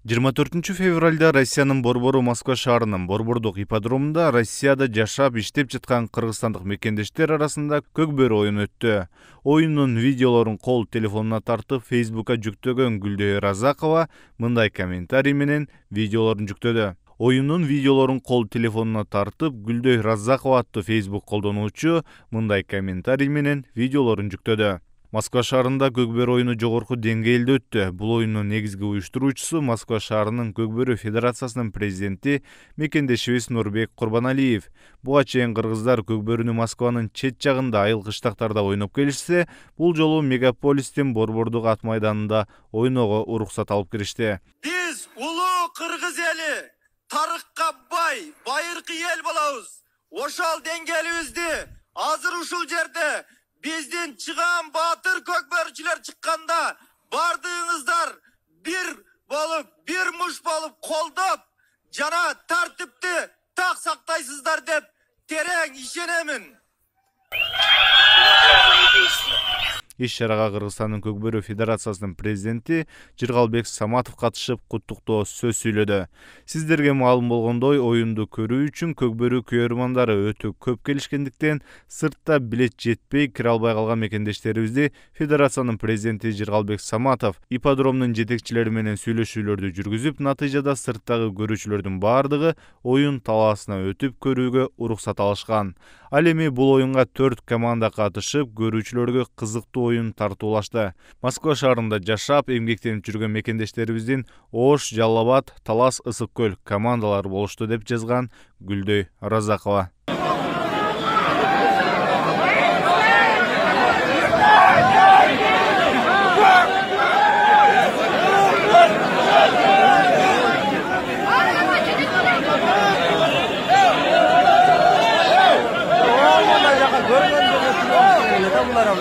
24 февралда Россиянын Борбору Москва шаарынын Борбордук ипподромунда Россияда жашап иштеп жаткан кыргызстандык мекендештер арасында көкбөрү оюну өттү. Оюндун видеолорун кол телефонуна тартып Facebook'a жүктөгөн Гүлдөй Разакова мындай комментарий менен видеолорун жүктөдү. Оюндун видеолорун кол телефонуна тартып Гүлдөй Разакова аттуу Facebook колдонуучу мындай комментарий менен видеолорун жүктөдү. Москва шаарында көкбөрү оюну жогорку деңгээлде өттү. Бул оюндун негизги уюштуруучусу Москва шаарынын Көкбөрү Федерациясынын президенти мекендешибиз Нурбек Курбаналиев. Буга чейин кыргыздар көкбөрүнү Москванын чет жагында айыл кыштактарда ойноп келишсе, бул жолу мегаполистин Борбордук ат майданында ойноого уруксат алып киришти. Биз улуу кыргыз эли, тарыхка бай, байыркы эл болобуз. Ошол деңгээлибизди азыр ушул жерде биздин чыган баатыр көкбөрүчүлөр чыкканда бардыгыңыздар бир болуп, бир муш болуп колдоп, жана тартипти так сактайсыздар деп терең ишенемин. Иш-чарага Кыргызстандын Көкбөрү Федерациясынын президенти Жыргалбек Саматов катышып куттуктоо сөз сүйлөдү. Сиздерге маалым болгондой, оюнду көрүү үчүн көкбөрү күйөрмандары өтө көп келишкендиктен, сыртта билет жетпей кире албай калган мекендештерибизди Федерациянын президенти Жыргалбек Саматов ипподромдун жетекчилери менен сүйлөшүүлөрдү жүргүзүп, натыйжада сырттагы көрүүчүлөрдүн бардыгы оюн талаасына өтүп көрүүгө уруксат алышкан. Ал эми бул оюнга 4 команда катышып, көрүүчүлөргө кызыктуу оюн тартуулашты. Москва шаарында жашап, эмгектенип жүргөн мекендештерибиздин Ош, Жалал Абад, Талас, Ысык көл командалары болушту деп жазган Гүлдөй Разакова. Bunlara